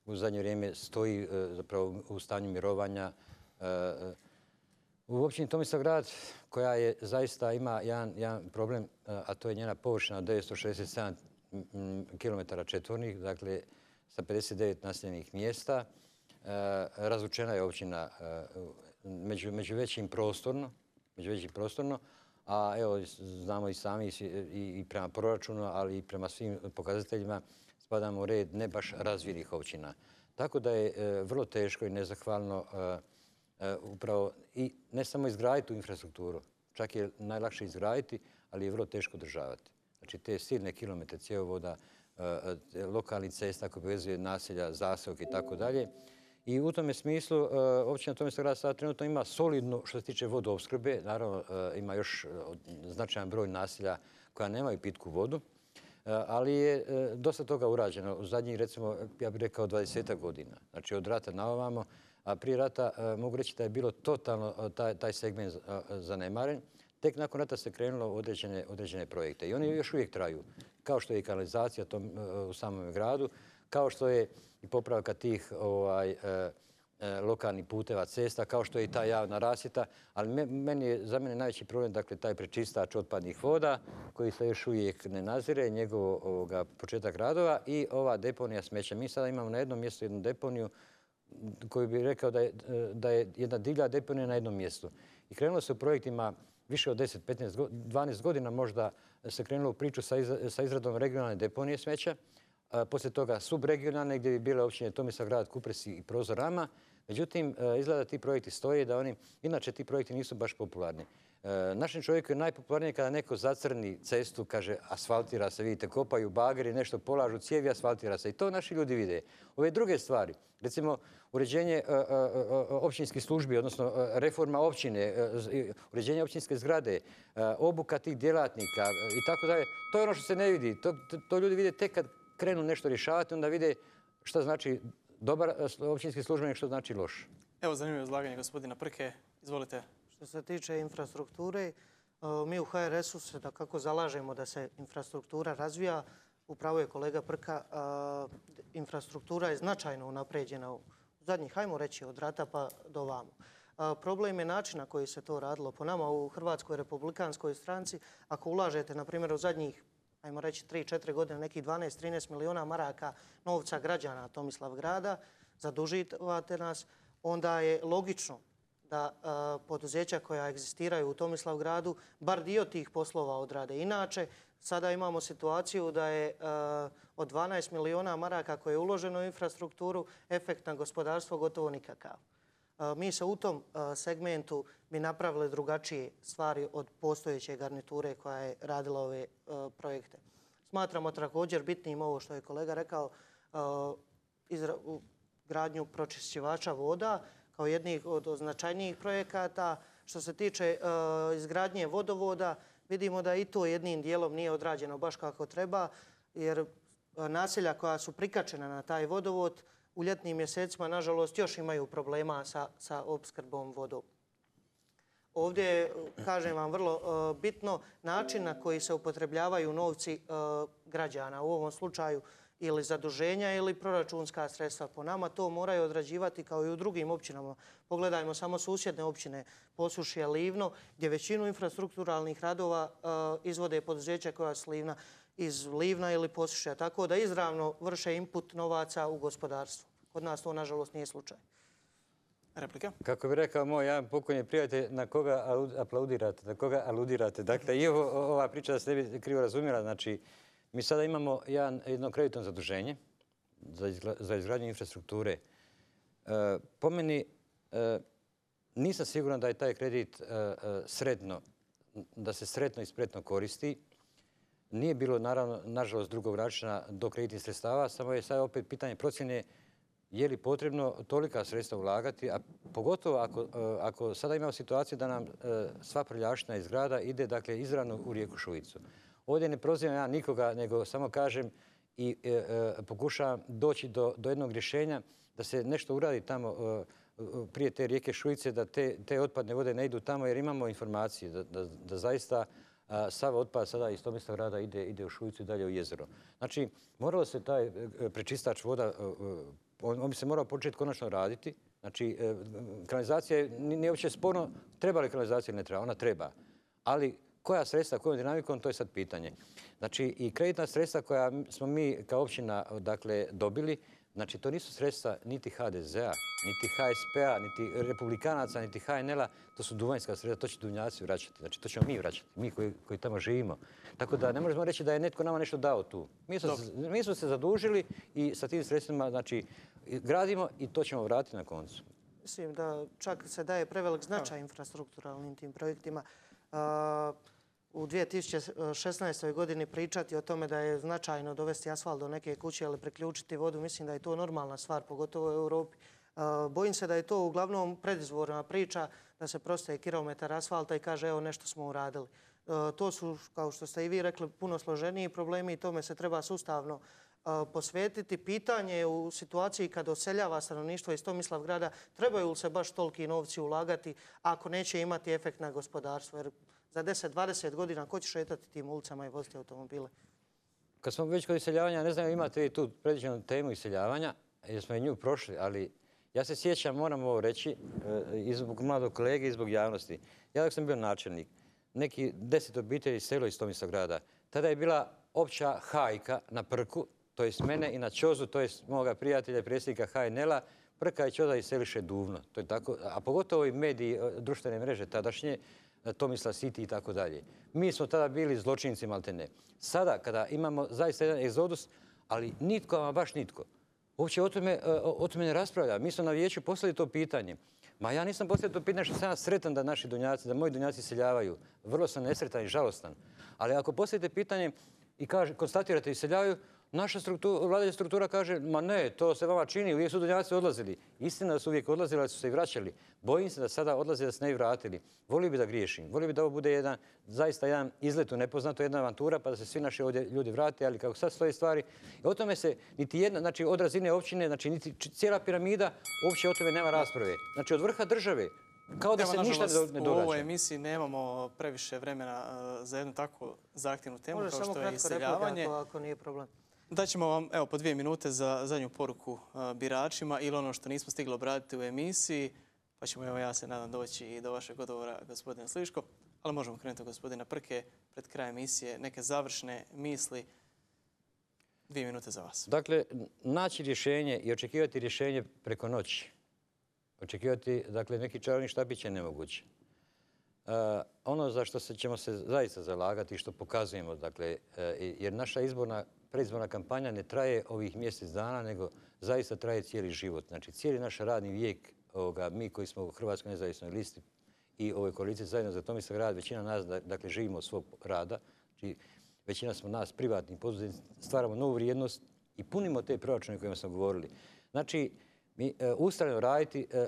u zadnje vrijeme stoji e, zapravo u stanju mirovanja. E, U općini Tomislavgrad, koja je zaista ima jedan, jedan problem, e, a to je njena površina od devetsto šezdeset sedam kilometara četvornih, dakle sa pedeset devet naseljenih mjesta. E, Razvučena je općina e, među, među većim prostorno, među većim prostorno, a evo znamo i sami i, i prema proračunu, ali i prema svim pokazateljima spadamo u red ne baš razvijenih općina. Tako da je e, vrlo teško i nezahvalno e, e, upravo i ne samo izgraditi tu infrastrukturu, čak je najlakše izgraditi, ali je vrlo teško održavati. Znači te silne kilometre cjevovoda, e, e, lokalnih cesta koje povezuje naselja, zaseoke i tako dalje. I u tome smislu e, općina Tomislavgrad sada trenutno ima solidnu što se tiče vodoopskrbe. Naravno e, ima još e, značajan broj naselja koja nemaju pitku vodu, e, ali je e, dosta toga urađeno u zadnjih, recimo, ja bih rekao dvadesetak godina. Znači od rata na ovamo, a prije rata e, mogu reći da je bilo totalno e, taj, taj segment e, zanemaren. Tek nakon rata se krenulo u određene, određene projekte i oni još uvijek traju, kao što je i kanalizacija tom, e, u samom gradu, kao što je i popravka tih ovaj, e, e, lokalnih puteva, cesta, kao što je i ta javna rasvjeta, ali me- meni je, za mene najveći problem dakle, taj prečistač otpadnih voda koji se još uvijek ne nazire, njegov ovoga, početak radova i ova deponija smeća. Mi sada imamo na jednom mjestu jednu deponiju koju bih rekao da je, da je jedna divlja deponija na jednom mjestu. I krenulo se u projektima više od deset, petnaest, go- dvanaest godina možda se krenulo u priču sa, iz- sa izradom regionalne deponije smeća. A poslije toga subregionalne gdje bi bile općine Tomislavgrad, Kupresi i Prozorama. Međutim, e, izgleda da ti projekti stoje, da oni, inače ti projekti nisu baš popularni. E, Našem čovjeku je najpopularnije kada neko zacrni cestu, kaže asfaltira se, vidite, kopaju bageri, nešto polažu cijevi, asfaltira se. I to naši ljudi vide. Ove druge stvari, recimo uređenje e, e, e, općinskih službi, odnosno e, reforma općine, e, z- uređenje općinske zgrade, e, obuka tih djelatnika e, i tako dalje, to je ono što se ne vidi. To, to, to ljudi vide tek kad krenu nešto rješavati, onda vide šta znači dobar e, općinski službenik, što znači loš. Evo, zanimljivo izlaganje gospodina Prke. Izvolite. Što se tiče infrastrukture, e, mi u H R S-u se da kako zalažemo da se infrastruktura razvija. Upravo je kolega Prka, e, infrastruktura je značajno unapređena u zadnjih, hajmo reći, od rata pa do vamo. Problem je način na koji se to radilo. Po nama u Hrvatskoj republikanskoj stranci, ako ulažete, na primjer, u zadnjih, ajmo reći, tri četiri godine, nekih dvanaest trinaest miliona maraka novca građana Tomislavgrada, zaduživate nas, onda je logično da poduzeća koja egzistiraju u Tomislavgradu bar dio tih poslova odrade. Inače, sada imamo situaciju da je od dvanaest miliona maraka koje je uloženo u infrastrukturu, efekt na gospodarstvo gotovo nikakav. Mi se u tom segmentu bi napravili drugačije stvari od postojeće garniture koja je radila ove projekte. Smatramo također bitnim ovo što je kolega rekao, gradnju pročišćivača voda kao jednih od značajnijih projekata. Što se tiče izgradnje vodovoda, vidimo da i to jednim dijelom nije odrađeno baš kako treba, jer naselja koja su prikačena na taj vodovod u ljetnim mjesecima, nažalost, još imaju problema sa, sa opskrbom vodom. Ovdje je, kažem vam, vrlo bitno način na koji se upotrebljavaju novci građana. U ovom slučaju ili zaduženja ili proračunska sredstva. Po nama to moraju odrađivati kao i u drugim općinama. Pogledajmo samo susjedne općine, Posušje, Livno, gdje većinu infrastrukturalnih radova izvode poduzeća koja su Livna iz Livna ili Posušja. Tako da izravno vrše input novaca u gospodarstvo. Kod nas to, nažalost, nije slučaj. Replika? Kako bi rekao moj jedan pokojni prijatelj, na koga aplaudirate, na koga aludirate. Dakle, i ovo, ova priča da se ne bi krivo razumjela. Znači, mi sada imamo jedan, jedno kreditno zaduženje za, izgla, za izgradnju infrastrukture. E, po meni, e, nisam siguran da je taj kredit e, sretno, da se sretno i spretno koristi. Nije bilo, naravno, nažalost, drugog načina do kreditnih sredstava, samo je sad opet pitanje procjene je li potrebno tolika sredstva ulagati, a pogotovo ako, ako sada imamo situaciju da nam sva prljaština iz grada ide, dakle, izravno u rijeku Šuicu. Ovdje ne prozivam ja nikoga, nego samo kažem i e, e, pokušavam doći do, do jednog rješenja da se nešto uradi tamo e, prije te rijeke Šuice, da te, te otpadne vode ne idu tamo, jer imamo informacije da, da, da zaista a, sav otpad sada iz Tomislavgrada ide, ide u Šuicu i dalje u jezero. Znači, moralo se taj prečistač voda, on, on bi se morao početi konačno raditi. Znači, e, kanalizacija nije uopće sporno, treba li kanalizacija ili ne treba, ona treba. Ali koja sredstva, kojom dinamikom, to je sad pitanje. Znači, i kreditna sredstva koja smo mi kao općina, dakle, dobili, znači, to nisu sredstva niti ha de zea, niti ha es pe a, niti republikanaca, niti ha en el-a, to su duvanjska sredstva, to će Dunjavci vraćati. Znači, to ćemo mi vraćati, mi koji, koji tamo živimo. Tako da ne možemo reći da je netko nama nešto dao tu. Mi smo, mi smo se zadužili i sa tim sredstvima, znači, gradimo i to ćemo vratiti na koncu. Mislim da čak se daje prevelik značaj infrastrukturalnim tim projektima. Uh, u dvije tisuće šesnaestoj godini pričati o tome da je značajno dovesti asfalt do neke kuće ili priključiti vodu, mislim da je to normalna stvar, pogotovo u Europi. Bojim se da je to uglavnom predizborna priča, da se prostaje kilometar asfalta i kaže evo nešto smo uradili. To su, kao što ste i vi rekli, puno složeniji problemi i tome se treba sustavno posvetiti. Pitanje je u situaciji kad oseljava stanovništvo iz Tomislavgrada, trebaju li se baš toliki novci ulagati ako neće imati efekt na gospodarstvo? Jer za deset dvadeset godina ko će šetati tim ulicama i voziti automobile? Kad smo već kod iseljavanja, ne znam, imate li tu predviđenu temu iseljavanja, jer smo i nju prošli, ali ja se sjećam, moram ovo reći, i zbog mladog kolege i zbog javnosti. Ja dok sam bio načelnik, neki deset obitelji selo iz Tomislavgrada, tada je bila opća hajka na Prku, to jest mene i na Čozu, to jest moga prijatelja, predsjednika ha en el-a, Prka i Čoza iseliše Duvno. To je tako, a pogotovo i mediji, društvene mreže tadašnje, Tomislav City i tako dalje. Mi smo tada bili zločinci maltene. Sada, kada imamo zaista jedan egzodus, ali nitko, ama baš nitko, uopće o tome, o tome ne raspravlja. Mi smo na vijeću poslali to pitanje. Ma ja nisam poslali to pitanje što sam ja sretan da naši Dunjavci, da moji Dunjavci iseljavaju. Vrlo sam nesretan i žalostan. Ali ako postavite pitanje i kaže, konstatirate iseljavaju, naša struktura, vladajuća struktura kaže, ma ne, to se vama čini, uvijek su Dunjavci odlazili. Istina da su uvijek odlazili, ali su se i vraćali. Bojim se da sada odlaze da se ne bi vratili. Volio bi da griješim. Volio bi da ovo bude jedan, zaista jedan izlet u nepoznato, jedna avantura, pa da se svi naši ovdje ljudi vrate, ali kako sad stoje stvari. I o tome se niti jedna, znači od razine općine, znači niti cijela piramida, uopće o tome nema rasprave. Znači od vrha države, kao da se ništa ne događa. U ovoj emisiji nemamo previše vremena za jednu takvu zahtjevnu temu kao što je iseljavanje. Može samo kratko replika, ako nije problem. Daćemo vam evo, po dvije minute za zadnju poruku biračima ili ono što nismo stigli obraditi u emisiji, pa ćemo, evo ja se nadam, doći i do vašeg odgovora, gospodine Sliško. Ali možemo krenuti od gospodina Prke pred kraj emisije. Neke završne misli. Dvije minute za vas. Dakle, naći rješenje i očekivati rješenje preko noći. Očekivati, dakle, neki čarobni štapić je nemoguće. Uh, ono za što se, ćemo se zaista zalagati i što pokazujemo, dakle, uh, jer naša izborna, predizborna kampanja ne traje ovih mjesec dana, nego zaista traje cijeli život. Znači, cijeli naš radni vijek, ovoga, mi koji smo u Hrvatskoj nezavisnoj listi i ovoj koaliciji zajedno za Tomislav grad, većina nas, dakle, živimo od svog rada. Znači, većina smo nas privatni poduzetnici, stvaramo novu vrijednost i punimo te proračune o kojima smo govorili. Znači, mi uh, ustrajno raditi, uh,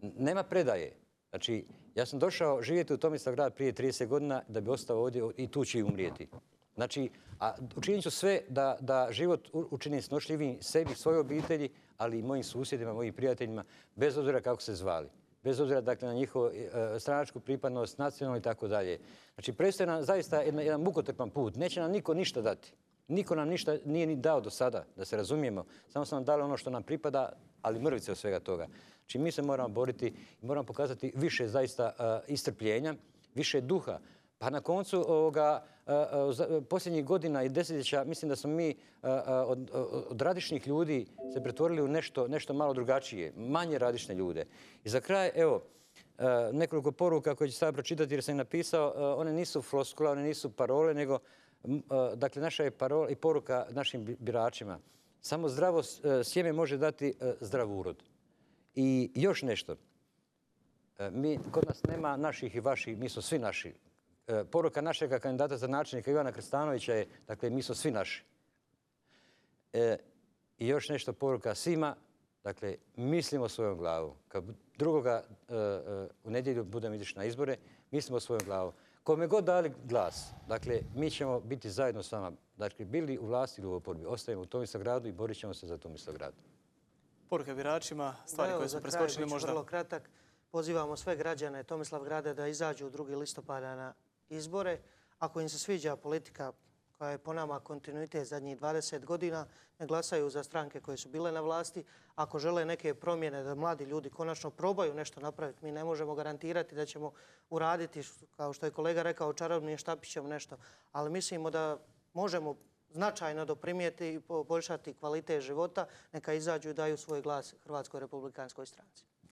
uh, nema predaje. Znači, ja sam došao živjeti u Tomislav grad prije trideset godina da bi ostao ovdje i tu će i umrijeti. Znači, a učinit ću sve da, da život učinim snošljivim sebi, svojoj obitelji, ali i mojim susjedima, mojim prijateljima, bez obzira kako se zvali. Bez obzira, dakle, na njihovu uh, stranačku pripadnost, nacionalnu i tako dalje. Znači, predstoji nam zaista jedan, jedan mukotrpan put. Neće nam niko ništa dati. Niko nam ništa nije ni dao do sada, da se razumijemo. Samo su nam dali ono što nam pripada, ali mrvice od svega toga. Znači, mi se moramo boriti i moramo pokazati više zaista uh, istrpljenja, više duha. Pa na koncu ovoga, uh, uh, posljednjih godina i desetljeća mislim da smo mi uh, od, od radišnih ljudi se pretvorili u nešto, nešto malo drugačije, manje radišne ljude. I za kraj, evo, uh, nekoliko poruka koje ću sada pročitati jer sam ih napisao, uh, one nisu floskule, one nisu parole, nego uh, dakle, naša je parola i poruka našim biračima. Samo zdravo uh, sjeme može dati uh, zdrav urod. I još nešto. Mi, kod nas nema naših i vaših, mi smo svi naši. Poruka našega kandidata za načelnika Ivana Krstanovića je, dakle, mi smo svi naši. E, I još nešto poruka svima, dakle, mislimo svojom glavom. Kad drugoga e, e, u nedjelju budemo izišli na izbore, mislimo svojom glavom. Kome god dali glas, dakle, mi ćemo biti zajedno s vama. Dakle, bili u vlasti ili u oporbi, ostajemo u Tomislav gradu i borit ćemo se za Tomislav grad. Poruka biračima, stvari koje su preskočili možda. Vrlo kratak. Pozivamo sve građane Tomislav grada da izađu drugog listopada na izbore. Ako im se sviđa politika koja je po nama kontinuitet zadnjih dvadeset godina, ne glasaju za stranke koje su bile na vlasti. Ako žele neke promjene da mladi ljudi konačno probaju nešto napraviti, mi ne možemo garantirati da ćemo uraditi, kao što je kolega rekao, čarobnim štapićem nešto. Ali mislimo da možemo značajno doprinijeti i poboljšati kvalitet života, neka izađu i daju svoj glas Hrvatskoj republikanskoj stranci.